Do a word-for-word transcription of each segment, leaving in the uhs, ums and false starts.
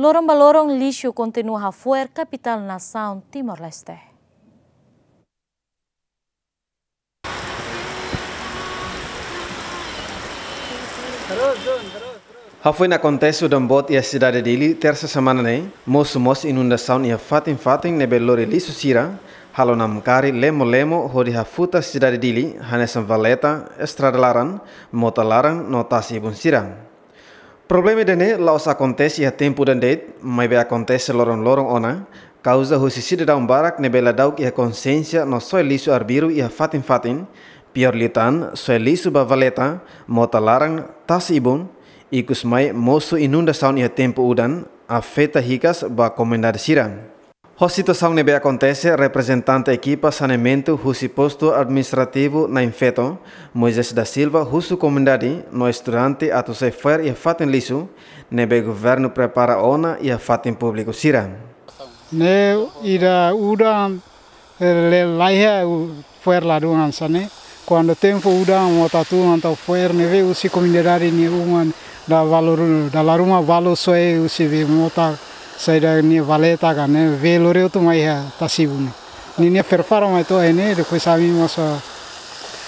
Loron ba loron lixu kontinua hafo'er kapitál nasaun Timor-Leste. Hafoin akontese udan boot iha sidade Dili, tersa semana ne'e, mosu mós inundasaun iha fatin-fatin ne'ebé lori lixu sira, halo namkari lemo-lemo hodi hafuta sidade Dili, hanesan valeta, estrada laran, mota laran no tasi-ibun sira. Problema ida-ne'e la'ós akontese iha tempu udan de'it, maibé akontese loron-loron ona, kauza husi sidadaun barak ne'ebé ladauk iha konsiénsia no soe lixu arbiru iha fatin-fatin, piór liután, soe lixu ba valeta, mota laran, tasi-ibun, ikusmai mosu inundasaun iha tempu udan, afeta hikas ba komunidade sira. Ho situasaun ne'ebé akontese, reprezentante ekipa saneamentu husi Postu Administrativu Nain Feto, Moisés da Silva, husu komunidade no estudante atu sai fo'er iha fatin lixu ne'ebé governu prepara ona iha fatin públiku sira. Ne'e ida udan, eh, le laiha u-, fo'er ladún hanesan ne'e. Kuandu tempu udan mota tun entaun fo'er ne'ebé husi komunidade nia uma dala ruma, dala ruma balu soe husi be mota saida nia valeta ka ne'ebé lori hotu mai iha tasi-ibun. Ninia prepara mai to'o iha ne'e, depois ami mós, ah,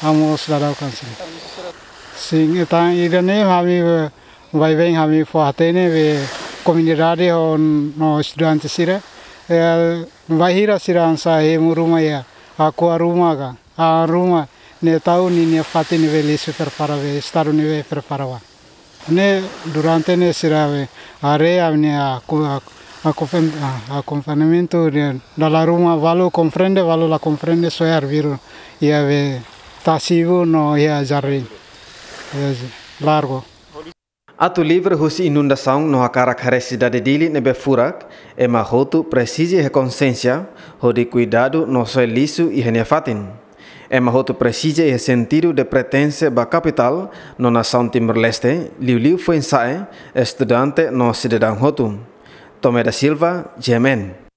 ami mós dadauk hanesan ne'e. Sin, entaun ida-ne'e ami, eh, baibain ami fó hatene be komunidade ho no estudante sira. Eh, bainhira sira hanesan hemu ruma iha, hako'a ruma ka, ha'an ruma, ne'e tau ninia fatin ne'ebé lixu prepara be, estadu ne'ebé prepara ba. Ne'e durante ne'e sira be haree ami-nia aku-, aku-, akompañ-, ah, akompañamentu de dala ruma balu komprende, balu la komprende soe arbiru iha be tasi-ibun no iha jardín. Iha largu. Atu livre husi inundasaun no hakarak haree sidade Dili ne'ebé furak, ema hotu presiza iha konsiénsia hodi kuidadu no soe lixu iha nia fatin. Ema hotu presiza iha sentidu de pertense ba kapitál no nasaun Timor-Leste, liuliu foin-sa'e, estudante no sidadaun hotu. Tomé da Silva, G M N.